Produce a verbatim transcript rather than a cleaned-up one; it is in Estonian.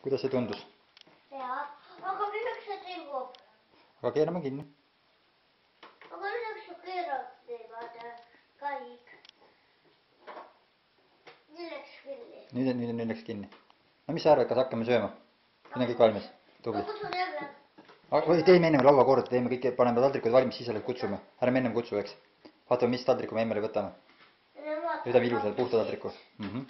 kuidas see tundus? Jaa, aga milleks see tilgub? Aga keerame kinni. Aga milleks see keerab teevad kõik? Nii läks kinni. Nüüd, nüüd, nüüd läks kinni. No mis sa arvad, kas hakkame sööma? Siin on kõik valmis. Tubli. Kus on jälle? Või teeme ennem laua korda, teeme kõik, paneme taldrikud valmis, siis alles kutsume. Ärme ennem kutsu, eks. Vaatame, mis taldriku me emmele võtame. Võtame ilusad puhta taldriku. Mhm.